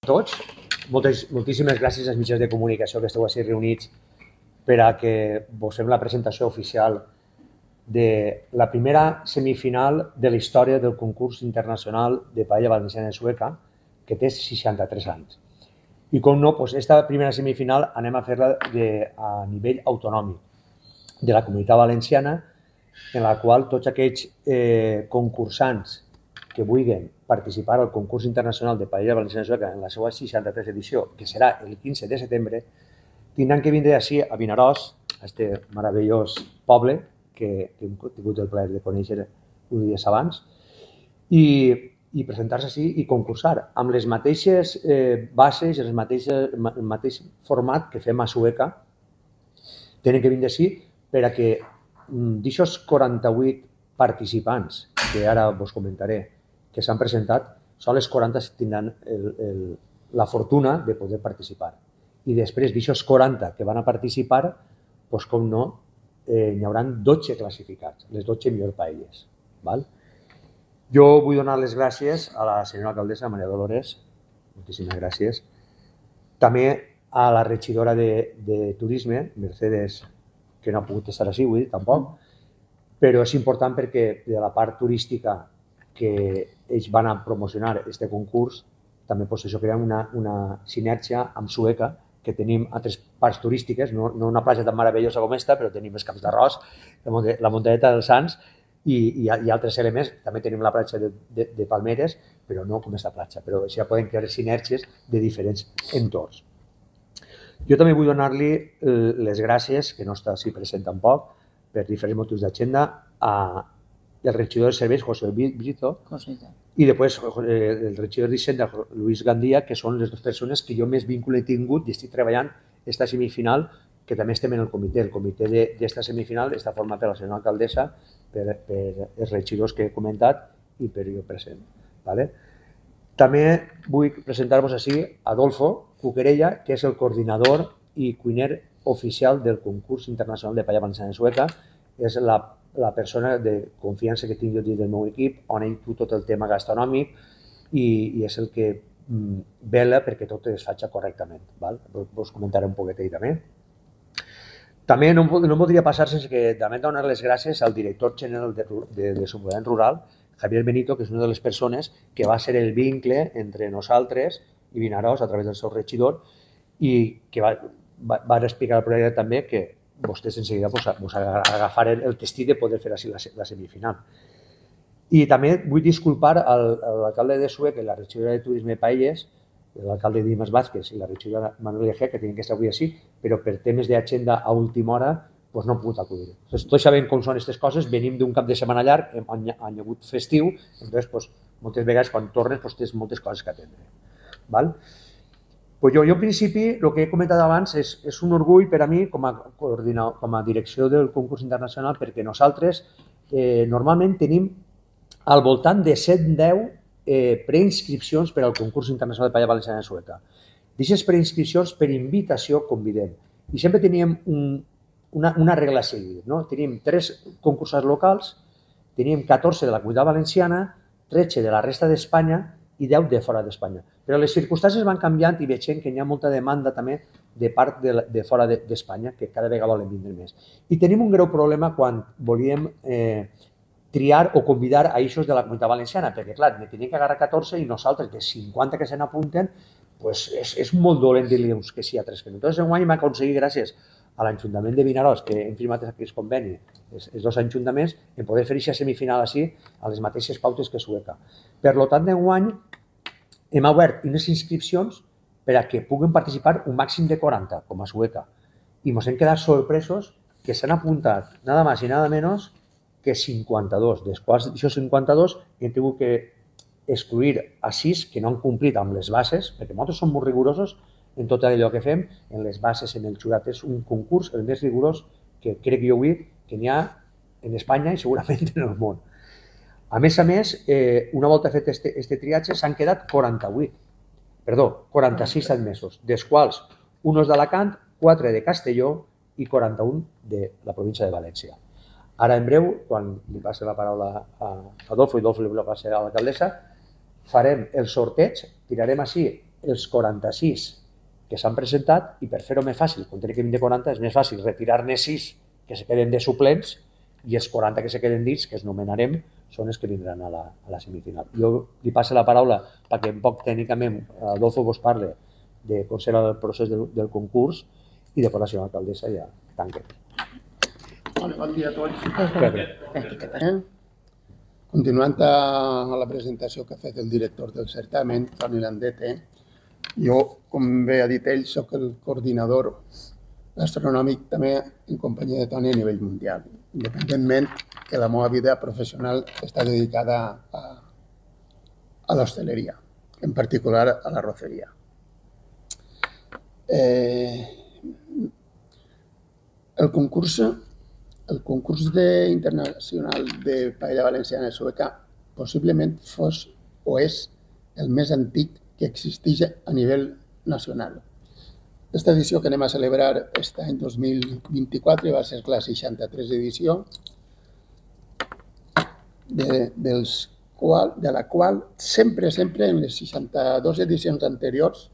tots. Moltíssimes gràcies als mitjans de comunicació que esteu així reunits per a que vos fem la presentació oficial de la primera semifinal de la història del concurs internacional de paella valenciana i sueca, que té 63 anys. I com no, aquesta primera semifinal anem a fer-la a nivell autonòmic de la Comunitat Valenciana, en la qual tots aquells concursants que vulguin participar al concurs internacional de paella valenciana i sueca en la seva 63 edició, que serà el 15 de setembre, tindran que vindre així a Vinaròs, a aquest meravellós poble que hem tingut el plaer de conèixer uns dies abans, i presentar-se així i concursar amb les mateixes bases, el mateix format que fem a Sueca. Tenen que vindre així per a que d'aixòs 48 participants, que ara vos comentaré, que s'han presentat, són les 40 que tindran la fortuna de poder participar. I després d'aixòs 40 que van a participar, doncs com no, n'hi haurà 12 classificats, les 12 millors paelles. Jo vull donar les gràcies a la senyora alcaldessa Maria Dolores, moltíssimes gràcies. També a la regidora de Turisme, Mercedes, que no ha pogut estar així avui, tampoc, però és important perquè de la part turística que ells van a promocionar aquest concurs, també això crea una sinergia amb Sueca, que tenim altres parts turístiques, no una platja tan meravellosa com aquesta, però tenim els Camps d'Arròs, la muntanyeta dels Sants i altres elements. També tenim la platja de Palmeres, però no com aquesta platja. Però així ja poden crear sinergies de diferents entorns. Jo també vull donar-li les gràcies, que no està així present tampoc, per diferents motius d'agenda, al regidor de serveis, José Brito, i després el regidor d'Hisenda, Luis Gandia, que són les dues persones que jo més vincle he tingut i estic treballant aquesta semifinal, que també estem en el comitè. El comitè d'esta semifinal està format per la senyora alcaldessa, per els regidors que he comentat i per jo present. També vull presentar-vos així Adolfo Cuquerella, que és el coordinador i cuiner oficial del concurs internacional de paella valenciana i sueca. És la persona de confiança que tinc jo dins del meu equip, on ell du tot el tema gastronòmic i és el que vela perquè tot es faci correctament. Vos comentaré un poquet ell també. També no podria passar sense que també donar les gràcies al director general de Desenvolupament Rural, Javier Benito, que és una de les persones que va ser el vincle entre nosaltres i Vinaròs a través del seu regidor i que va explicar al projecte també que vostès en seguida agafaren el destí de poder fer així la semifinal. I també vull disculpar a l'alcalde de Sueca i la regidora de Turisme i Paelles, l'alcalde Dimas Vázquez i la regidora Manuel Egea, que tenien que estar avui així, però per temes d'agenda a última hora no han pogut acudir. Tots sabem com són aquestes coses, venim d'un cap de setmana llarg, han hagut festiu, doncs moltes vegades quan tornes tens moltes coses que atendre. Jo, en principi, el que he comentat abans és un orgull per a mi com a direcció del concurs internacional, perquè nosaltres normalment tenim al voltant de 7-10 preinscripcions per al concurs internacional de paella valenciana i sueca. D'aquestes preinscripcions, per invitació, convidem. I sempre teníem una regla a seguir. Teníem 3 concursants locals, teníem 14 de la Comunitat Valenciana, 13 de la resta d'Espanya i 10 de fora d'Espanya. Però les circumstàncies van canviant i veiem que hi ha molta demanda també de part de fora d'Espanya, que cada vegada volen vindre més. I tenim un greu problema quan volíem triar o convidar a eixos de la Comunitat Valenciana, perquè, clar, ne tenim que agarrar 14 i nosaltres, de 50 que se n'apunten, és molt dolent dir-li que sí a 3 que no. Entonces, enguany hem aconseguit, gràcies a l'Ajuntament de Vinaròs, que hem firmat aquest conveni, els 2 ajuntaments, en poder fer aquesta semifinal així a les mateixes pautes que Sueca. Per tant, d'enguany hem obert unes inscripcions per a que puguen participar un màxim de 40, com a Sueca. I ens hem quedat sorpresos que s'han apuntat nada más i nada menos que 52, dels quals d'aquests 52 hem tingut que excluir a 6 que no han complit amb les bases, perquè nosaltres som molt rigorosos en tot allò que fem, en les bases, en el jurat. És un concurs el més rigorós que crec jo avui que n'hi ha en Espanya i segurament en el món. A més, una volta fet aquest triatge, s'han quedat 46 admesos, dels quals uns d'Alacant, 4 de Castelló i 41 de la província de València. Ara, en breu, quan li passi la paraula a Adolfo i Adolfo li passi a l'alcaldessa, farem el sorteig, tirarem així els 46 que s'han presentat i per fer-ho més fàcil, com tenim que 20 de 40, és més fàcil retirar-ne 6 que se queden de suplents i els 40 que se queden dins, que es nomenarem, són els que vindran a la semifinal. Jo li passo la paraula perquè un poc tècnicament Adolfo vos parle de com serà el procés del concurs i després la senyora alcaldessa ja tanca. Bon dia a tots. Continuant a la presentació que ha fet el director del certamen, Toni Landete, jo, com bé ha dit ell, soc el coordinador gastronòmic també en companyia de Toni a nivell mundial, independentment que la meva vida professional està dedicada a l'hostaleria, en particular a l'arroceria. El concurs internacional de paella valenciana i sueca possiblement fos o és el més antic que existeix a nivell nacional. Aquesta edició que anem a celebrar aquest any 2024 va ser la 63 edició, de la qual sempre en les 62 edicions anteriors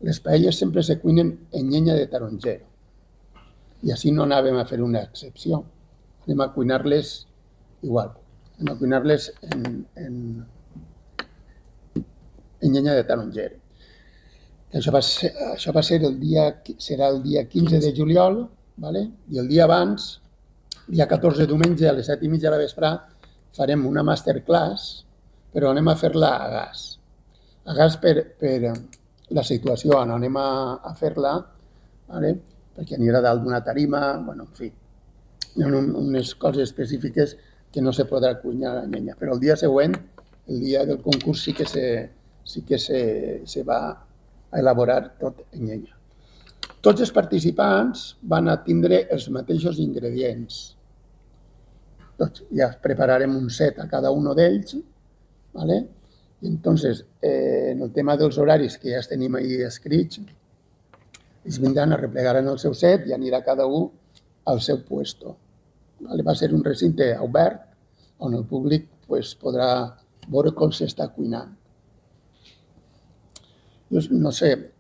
les paelles sempre se cuinen en llenya de taronger. I així no anàvem a fer una excepció. Anem a cuinar-les igual. Anem a cuinar-les en llenya de taronger. Això va ser serà el dia 15 de juliol, i el dia abans, dia 14 diumenge a les 7:30 de la vesprà, farem una masterclass, però anem a fer-la a gas. A gas per la situació on anem a fer-la, perquè anirà dalt d'una tarima, en fi, hi ha unes coses específiques que no se podrà cuinar a llenya. Però el dia següent, el dia del concurs, sí que se va a elaborar tot en llenya. Tots els participants van a tindre els mateixos ingredients. Ja prepararem un set a cada un d'ells, i entonces, en el tema dels horaris, que ja els tenim ahí escrits, ells vindran, arreplegaran el seu set i anirà cada un al seu puesto. Va ser un recinte obert on el públic podrà veure com s'està cuinant. No sé,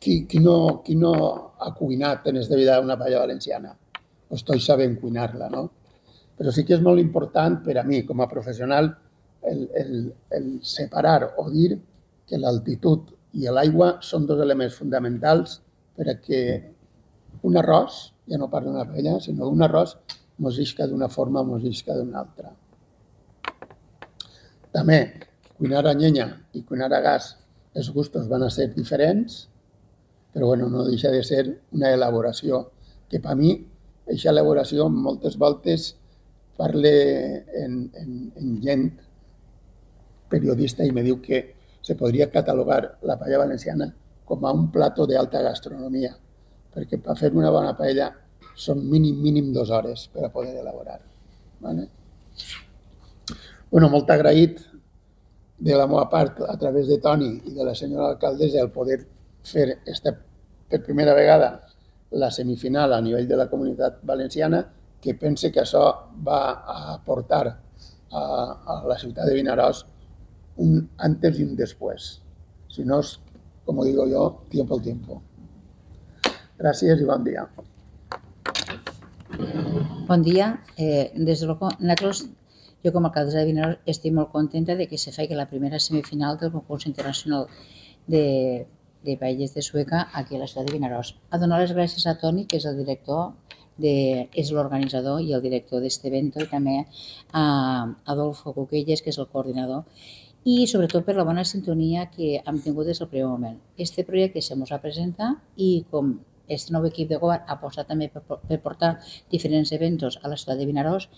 qui no ha cuinat en esta vida una paella valenciana? O estoy sabent cuinar-la, no? Però sí que és molt important per a mi, com a professional, el separar o dir que l'altitud i l'aigua són dos elements fonamentals perquè un arròs, ja no parlo d'una paella, sinó un arròs mos isca d'una forma o mos isca d'una altra. També, cuinar a llenya i cuinar a gas, els gustos van a ser diferents, però no deixa de ser una elaboració que per mi, aquesta elaboració moltes voltes parle en gent periodista i me diu que se podria catalogar la paella valenciana com a un plato d'alta gastronomia, perquè per fer una bona paella són mínim 2 hores per a poder elaborar. Molt agraït de la meva part, a través de Toni i de la senyora alcaldessa, el poder fer per primera vegada la semifinal a nivell de la Comunitat Valenciana, que pense que això va a portar a la ciutat de Vinaròs un antes y un después. Si no, como digo yo, tiempo al tiempo. Gràcies i bon dia. Bon dia. Nosaltres, jo com a alcaldessa de Vinaròs, estic molt contenta de que se faci la primera semifinal del concurs internacional de paelles de Sueca aquí a la ciutat de Vinaròs. A donar les gràcies a Toni, que és el director, és l'organitzador i el director d'aquest event, i també a Adolfo Cuquelles, que és el coordinador, i sobretot per la bona sintonia que hem tingut des del primer moment. Este projecte se ens ha presentat i com aquest nou equip de govern ha apostat també per portar diferents eventos a la ciutat de Vinaròs,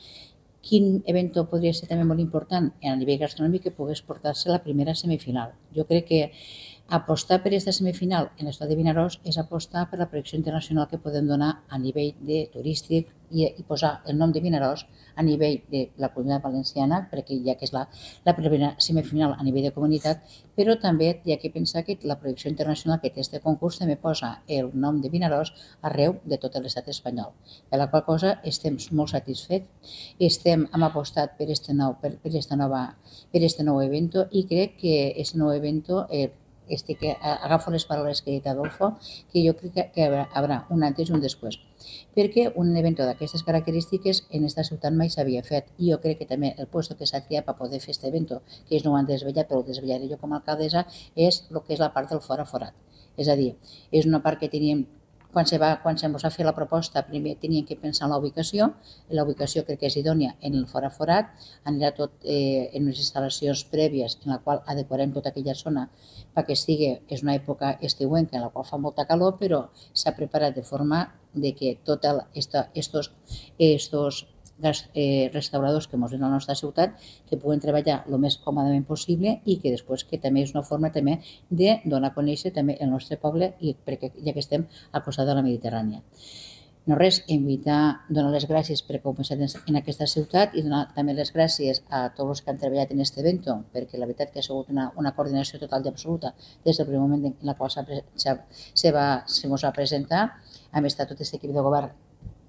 quin event podria ser també molt important a nivell gastronòmic que pogués portar-se la primera semifinal. Jo crec que apostar per aquesta semifinal en la ciutat de Vinaròs és apostar per la projecció internacional que podem donar a nivell turístic i posar el nom de Vinaròs a nivell de la Comunitat Valenciana, perquè ja que és la primera semifinal a nivell de comunitat, però també hi ha que pensar que la projecció internacional que té aquest concurs també posa el nom de Vinaròs arreu de tot l'estat espanyol. Per la qual cosa estem molt satisfets, hem apostat per aquest nou event i crec que aquest nou event agafo les paraules que ha dit Adolfo, que jo crec que haurà un antes i un després. Perquè un event d'aquestes característiques en esta ciutat mai s'havia fet i jo crec que també el lloc que s'ha triat per poder fer aquest event, que ells no ho han desvetllat, però ho desvetllaré jo com a alcaldessa, és el que és la part del fora forat. És a dir, és una part que teníem, quan se ens va fer la proposta, primer teníem que pensar en la ubicació crec que és idònia en el fora forat, anirà tot en unes instal·lacions prèvies en la qual adequarem tota aquella zona perquè és una època estiuenca en la qual fa molta calor, però s'ha preparat de forma de que tots estos restauradors que ens ven a la nostra ciutat que puguen treballar el més còmodament possible i que després que també és una forma també de donar a conèixer també el nostre poble i perquè ja que estem al costat de la Mediterrània. No res, donar les gràcies per començar en aquesta ciutat i donar també les gràcies a tots els que han treballat en aquest event, perquè la veritat que ha sigut una coordinació total i absoluta des del primer moment en la qual se va presentar. Hem estat tot aquest equip de govern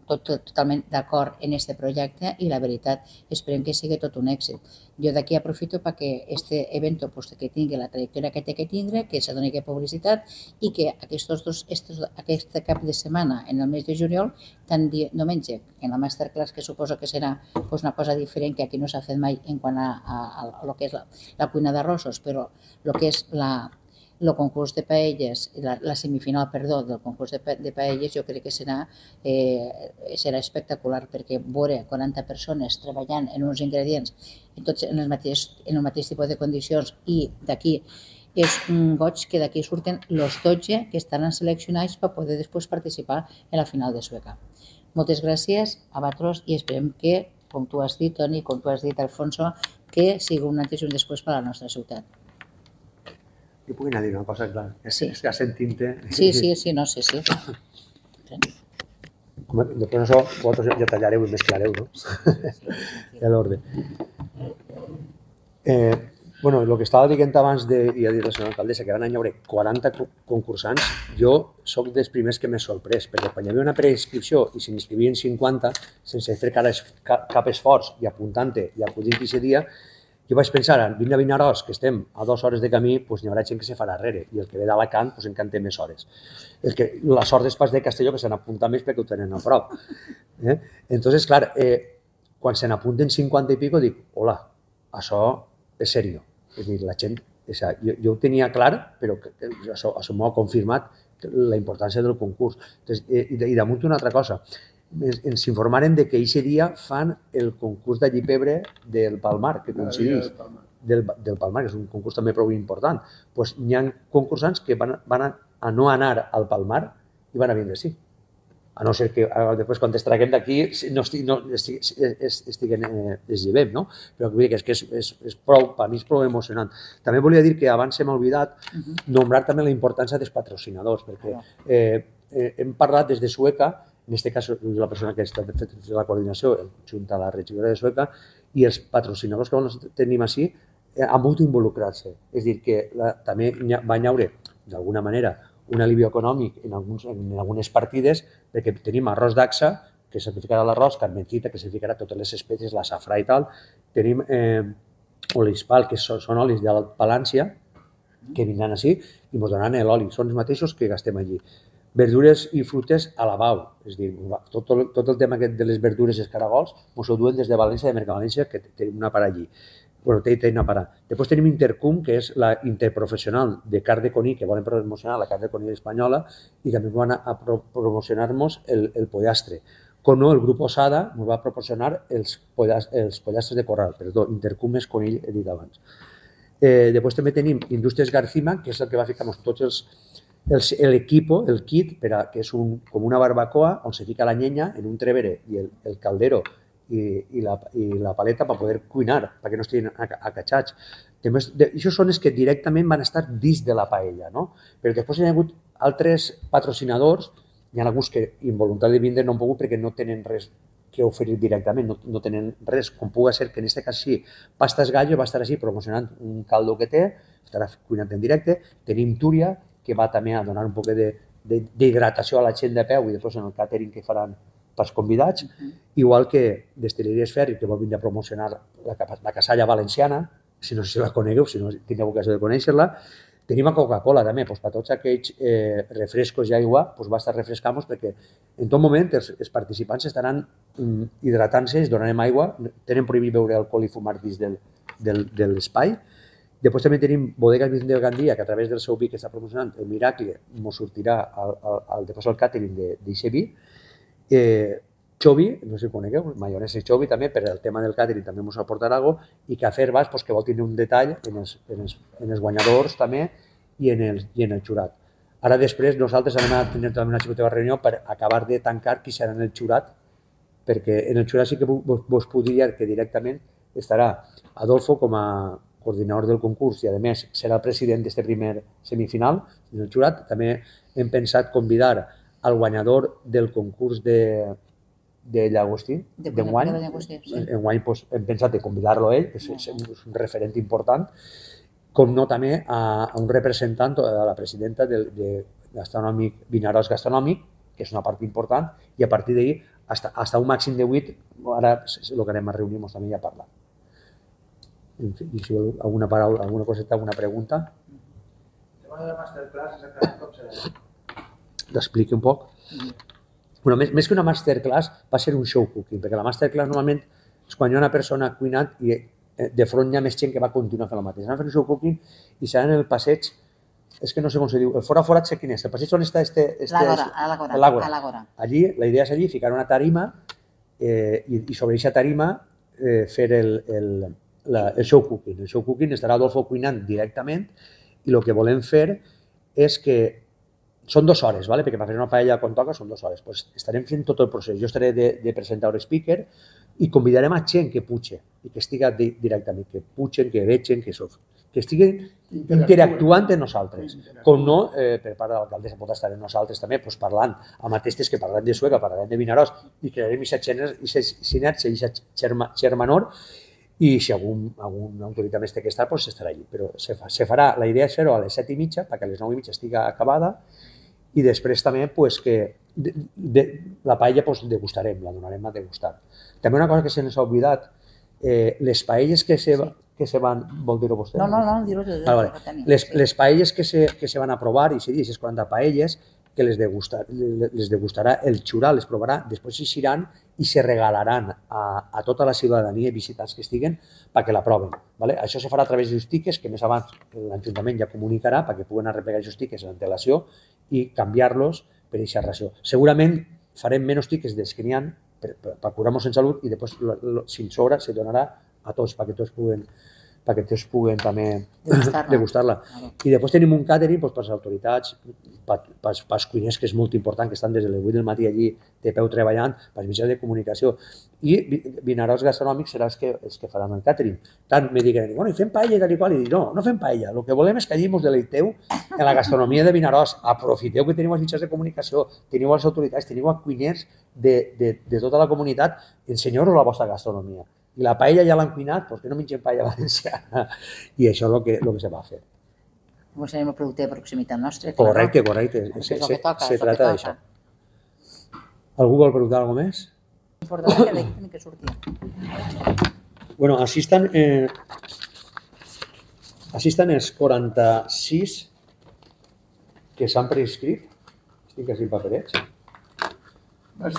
totalment d'acord en aquest projecte i la veritat esperem que sigui tot un èxit. Jo d'aquí aprofito perquè aquest event que tingui la trajectòria que té que tindre, que se doni publicitat i que aquest cap de setmana en el mes de juliol, tant diumenge en la masterclass, que suposo que serà una cosa diferent que aquí no s'ha fet mai en quant a el que és la cuina d'arrossos, però el que és el concurs de paelles, la semifinal, del concurs de paelles, jo crec que serà espectacular perquè veure 40 persones treballant en uns ingredients tots en el mateix tipus de condicions i d'aquí és un goig que d'aquí surten els 12 que estaran seleccionats per poder després participar en la final de Sueca. Moltes gràcies a vosaltres i esperem que, com tu has dit, Toni, com tu has dit, Alfonso, que sigui un antes i un després per a la nostra ciutat. Jo puc anar a dir una cosa, clar. És que sentint-te... Sí. Després això vosaltres ja tallareu i mesclareu, no? Ja l'ordre. Bueno, el que estava dient abans de, ja dir la senyora alcaldessa, que van haver 40 concursants, jo soc dels primers que m'he sorprès, perquè quan hi havia una preinscripció i se n'inscrivien 50, sense fer cap esforç i apuntant-te i acudint aquest dia, jo vaig pensar, vine a Vinaròs, que estem a 2 hores de camí, doncs n'hi haurà gent que se farà darrere, i el que ve d'Alacant, doncs en té més hores. La sort dels Pas de Castelló que se n'apunta més perquè ho tenen a prop. Entonces, clar, quan se n'apunten 50 i pico, dic, hola, això és seriós. És dir, la gent, jo ho tenia clar, però això m'ho ha confirmat la importància del concurs. I damunt una altra cosa, ens informaren que aquest dia fan el concurs d'allipebre del Palmar, que coincideix del Palmar, que és un concurs també prou important. Doncs hi ha concursants que van a no anar al Palmar i van a vindre sí. A no ser que després, quan es traguem d'aquí, estiguem deslliurem, no? Però vull dir que és prou, per mi és prou emocionant. També volia dir que abans hem oblidat nombrar també la importància dels patrocinadors, perquè hem parlat des de Sueca, en aquest cas la persona que està fent la coordinació junt a la regidora de Sueca, i els patrocinadors que tenim així han pogut involucrar-se. És a dir, que també va haver, d'alguna manera, un alivio econòmic en algunes partides, perquè tenim arròs d'Axa, que certificarà l'arròs, carmencita, que certificarà totes les espècies, la safrà i tal. Tenim olispal, que són olis de Palància, que vindran així i ens donaran l'oli. Són els mateixos que gastem allí. Verdures i fruites a la Bau. És a dir, tot el tema de les verdures i els caragols ens ho duen des de València, de Mercavalència, que tenim una part allí. Bueno, té una part. Després tenim Intercum, que és la interprofessional de carn de coní, que volen promocionar la carn de coní espanyola, i també van a promocionar-nos el pollastre. Com no, el grup Osada ens va proporcionar els pollastres de corral. Perdó, Intercum és conill, he dit abans. Després també tenim Indústries Garcima, que és el que va ficar tots l'equip, el kit, que és com una barbacoa on se fica la llenya en un trevere i el caldero i la paleta per poder cuinar, perquè no estiguin acatxats. Això són els que directament van estar dins de la paella, no? Però després hi ha hagut altres patrocinadors, hi ha alguns que involuntari de vindre no han pogut perquè no tenen res que oferir directament, no tenen res, com pugui ser que en aquest cas sí, Pastas Gallo va estar així promocionant un caldo que té, estarà cuinant en directe. Tenim Túria, que va també a donar un poc d'hidratació a la gent de peu i després en el càtering que faran pels convidats, igual que Destil·leries Ferri, que vol vindre a promocionar la casalla valenciana, si no sé si la conegueu, si no tindreu ocasió de conèixer-la. Tenim a Coca-Cola també, doncs, per tots aquells refrescos i aigua, doncs basta refrescar-nos perquè en tot moment els participants estaran hidratant-se, es donarem aigua, tenen prohibit beure alcohol i fumar dins de l'espai. Després també tenim Bodegas Vicente del Gandia, que a través del seu vi que està promocionant, el Miracle, ens sortirà després el càtering d'eixe vi. Xovi, no sé si ho conegueu, maionesa Xovi també, per el tema del càtering també ens aportarà alguna cosa, i Cafè Herbàs, que vol tenir un detall en els guanyadors també i en el jurat. Ara després nosaltres anem a tenir també una xicoteva reunió per acabar de tancar qui serà en el jurat, perquè en el jurat sí que vos puc dir que directament estarà Adolfo com a coordinador del concurs i a més serà el president d'aquest primer semifinal en el jurat. També hem pensat convidar al guanyador del concurs de llagostí, d'enguany. Enguany hem pensat de convidar-lo a ell, que és un referent important, com no també a un representant, a la presidenta del Vinaròs Gastronòmic, que és una part important, i a partir d'ahir, fins un màxim de 8, ara el que anem a reunir-nos també i a parlar. En fi, si vol alguna paraula, alguna coseta, alguna pregunta? El tema de la masterclass, exactament com serà? T'expliqui un poc. Bueno, més que una masterclass va ser un show cooking, perquè la masterclass normalment és quan hi ha una persona cuinant i de front hi ha més gent que va continuar fent el mateix. Anem a fer un show cooking i serà en el passeig, és que no sé com se diu, el fora forat sé quin és, el passeig on està l'Àgora. Allí, la idea és allí ficar una tarima i sobre aquesta tarima fer el show cooking. El show cooking estarà Adolfo cuinant directament i el que volem fer és que són 2 hores, perquè per fer una paella quan toca són 2 hores. Estarem fent tot el procés. Jo estaré de presentador speaker i convidarem a gent que puxe i que estigui directament, que puxen, que vegin, que estiguin interactuant amb nosaltres. Com no, per part de l'alcaldessa pot estar amb nosaltres també parlant amb aquestes que parlarem de Sueca, parlarem de Vinaròs i crearem aquesta sinergia i aquesta germanor. I si alguna autoritat més té que estar, estarà allí. Però se farà, la idea és fer-ho a les 7:30 perquè a les 9:30 estigui acabada i després també que la paella degustarem, la donarem a degustar. També una cosa que se n'ha oblidat, les paelles que se van... Vol dir-ho vostè? No, dir-ho tot. Les paelles que se van aprovar, i seria aquestes 40 paelles, que les degustarà el jurat, les provarà, després s'iran i se regalaran a tota la ciutadania i visitants que estiguen perquè la proven. Això se farà a través dels tiquets, que més abans l'Ajuntament ja comunicarà perquè puguen arreplegar aquests tiquets en antelació i canviar-los per aquesta ració. Segurament farem menys tiquets dels que n'hi ha per curar-nos en salut i després, si en sobra, se donarà a tots perquè tots puguen també degustar-la. I després tenim un càtering per les autoritats, pels cuiners, que és molt important, que estan des de les 8 del matí allí de peu treballant, pels mitjans de comunicació. I Vinaròs Gastronòmics serà els que faran el càtering. Tant me diguen, bueno, i fem paella i tal i qual, i dic, no fem paella. El que volem és que allí ens deleiteu en la gastronomia de Vinaròs. Aprofiteu que teniu els mitjans de comunicació, teniu les autoritats, teniu els cuiners de tota la comunitat, ensenyeu-nos la vostra gastronomia. I la paella ja l'han cuinat, perquè no mengem paella valenciana. I això és el que se va fer. Doncs serem el producte de proximitat nostre. Correcte. Se trata d'això. Algú vol preguntar alguna cosa més? L'important és que que surti. Bueno, així estan els 46 que s'han prescrit. Estic així en paperets. Vas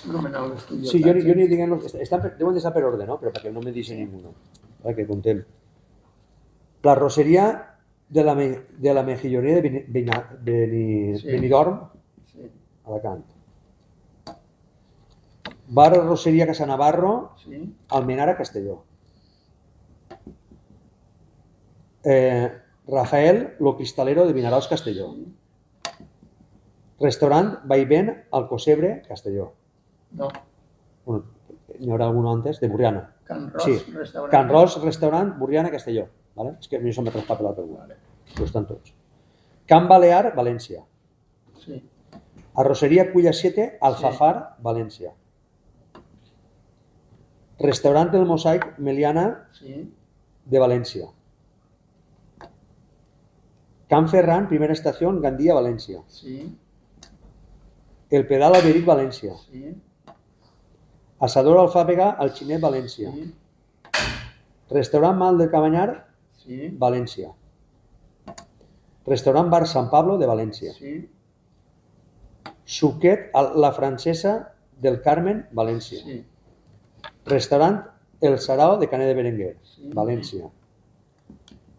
nomenar l'estudi. Sí, jo ni diguem-los, deuen d'estar per ordre, no? Però perquè no me deixi ningú, que contem. La roseria de la mejilloneria de Benidorm, Alacant. Bar Roseria Casa Navarro, Almenara, Castelló. Rafael, Lo Cristalero de Vinaròs, Castelló. Restaurant Vaivén, Alcocebre, Castelló. No. N'hi haurà algun antes, de Burriana. Can Ros, Restaurant, Burriana, Castelló. És que a mi això m'ha traspapelat algú. Però estan tots. Can Balear, València. Arroseria Culla 7, Alfafar, València. Restaurant del Mosaic, Meliana, de València. Can Ferran, Primera Estació, Gandia, València. El Pedal Alberic, València. Asador Alfàbega, Alginet, València. Restaurant Mal del Cabanyar, València. Restaurant Bar San Pablo de València. Sí. Suquet a la Francesa del Carmen, València. Sí. Restaurant El Sarao de Canet de Berenguer, Sí. València.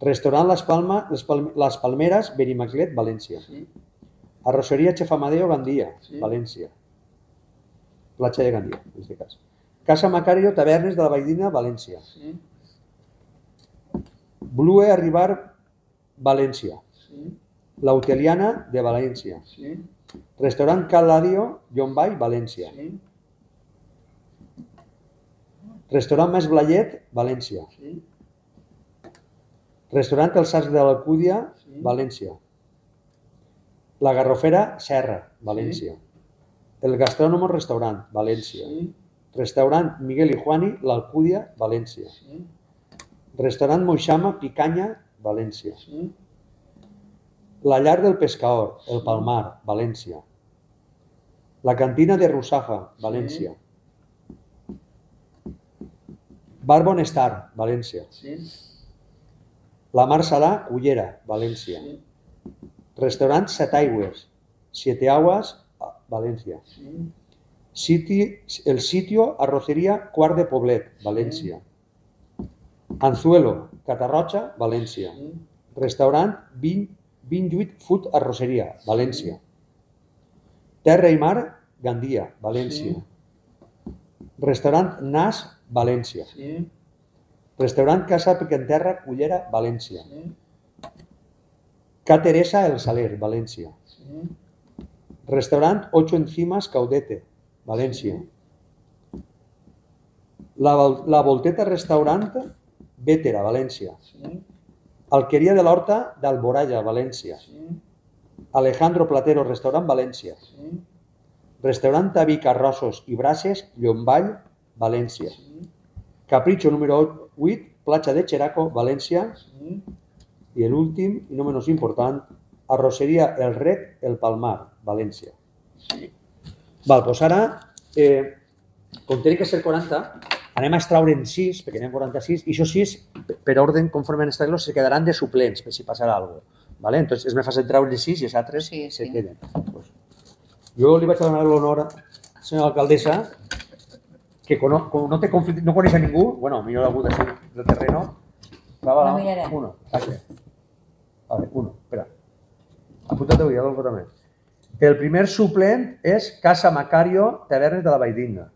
Restaurant Les Palmeras, Benimaclet, València. Sí. Arrosseria Chef Amadeo, Gandia, Sí. València. Platja de Gandia, en aquest cas. Casa Macario, Tavernes de la Valldigna, València. Sí. Blue Arribar, València. Sí. La Hoteliana de València. Sí. Restaurant Caladio, Llombai, València. Sí. Restaurant Mas Blayet, València. Sí. Restaurant Els Arcs de l'Alcúdia, Sí. València. La Garrofera, Serra, València. El Gastrónomo Restaurant, València. Sí. Restaurant Miguel i Juani, l'Alcúdia, València. Sí. Restaurant Moixama, Picanya, València. Sí. La Llar del Pescador, El Palmar, València. La Cantina de Russafa, València. Bar Bonestar, València. Sí. La Mar Salà, Cullera, València. Sí. Restaurant Setaigües, Siete Aguas, València. Sí. El Sitio, Arrocería, Quart de Poblet, València. Anzuelo, Catarroja, València. Sí. Restaurant Vinjuit Food Arroceria, València. Terra i Mar, Gandia, València. Restaurant Nas, València. Sí. Restaurant Casa Picanterra, Cullera, València. Sí. Ca Teresa, El Saler, València. Sí. Restaurant Ocho Encimas, Caudete, València. La Volteta Restaurant, Vétera, València. Sí. Alqueria de l'Horta d'Alboraya, València. Sí. Alejandro Platero Restaurant, València. Sí. Restaurant Taví Carrossos i Brases, Llomball, València. Sí. Capricho número 8, Platja de Xeraco, València. Sí. I l'últim, i no menys important, Arrosseria El Rec, El Palmar, València. Sí. Val, doncs ara, com tenen que ser 40, anem a extraure'n 6, perquè n'hi ha 46, i això 6, per ordre conforme en extraure-los, se quedaran de suplents, per si passarà alguna cosa. ¿Vale? Entonces, és més fàcil treure 6 i els altres se queden. Pues, jo li vaig a donar l'honor a la senyora alcaldessa, que com no té conflicte, no coneix a ningú, bueno, millor algú del terreno, va, No miraré. uno, a ver, uno, espera. Apunta-t'ho ja, Adolfo, també. El primer suplent és Casa Macario, Tavernes de la Valldigna.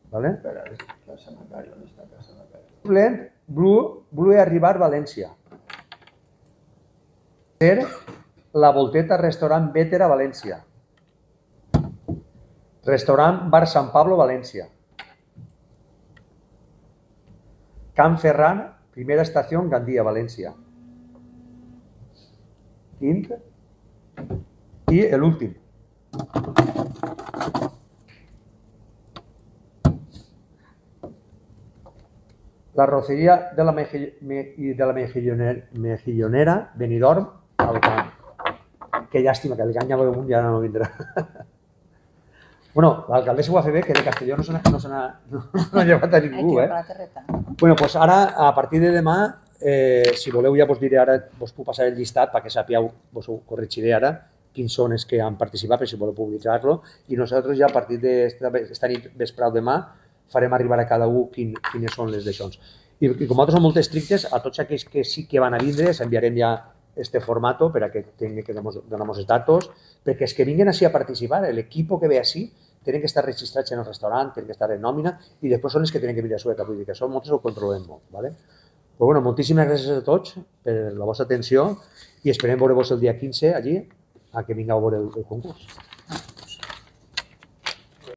¿Vale? Espera, Casa Macario, ¿dónde está Casa Macario? Suplent, Blue Arribar, València. Tercer, La Volteta Restaurant Vétera, València. Restaurant Bar San Pablo, València. Can Ferran, Primera Estació, Gandia, València. Quint. I l'últim. La Roceria de la Mejillonera, Benidorm, Alcan. Que llàstima, que el Gany ja no vindrà. Bueno, l'alcaldessa ho va fer bé, que de Castelló no se n'ha llevat a ningú. Bueno, doncs ara, a partir de demà, si voleu ja vos diré ara, vos puc passar el llistat perquè sapigueu, vos ho corregiré ara, quins són els que han participat, per si voleu publicar-lo, i nosaltres ja a partir d'esta nit vespre o demà farem arribar a cada un quines són les d'això. I com nosaltres som molt estrictes, a tots aquells que sí que van a vindre, s'enviarem ja este formato per a que tingui que donar els datos, perquè els que vinguin així a participar, l'equip que ve així, tenen que estar registrats en el restaurant, tenen que estar en nòmina, i després són els que tenen que venir a Sueca, vull dir que això nosaltres ho controlem molt. Però bueno, moltíssimes gràcies a tots per la vostra atenció i esperem veure-vos el dia 15 allí, a que vingueu a veure el concurs.